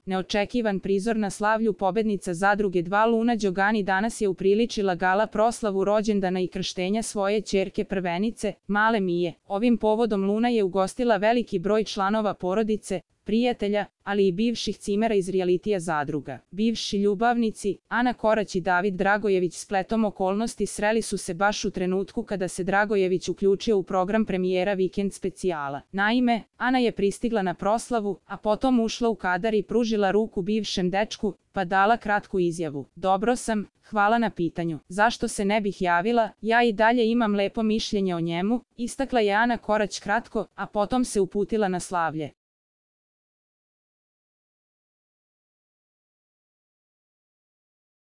Neočekivan prizor na slavlju pobednica Zadruge 2 Luna Đogani danas je upriličila gala proslavu rođendana i krštenja svoje ćerke prvenice, male Mije. Ovim povodom Luna je ugostila veliki broj članova porodice, prijatelja, ali i bivših cimera iz realitija Zadruga. Bivši ljubavnici, Ana Korać i David Dragojević spletom okolnosti sreli su se baš u trenutku kada se Dragojević uključio u program premijera Vikend specijala. Naime, Ana je pristigla na proslavu, a potom ušla u kadar i pružila ruku bivšem dečku, pa dala kratku izjavu. Dobro sam, hvala na pitanju. Zašto se ne bih javila, ja i dalje imam lepo mišljenje o njemu, istakla je Ana Korać kratko, a potom se uputila na slavlje.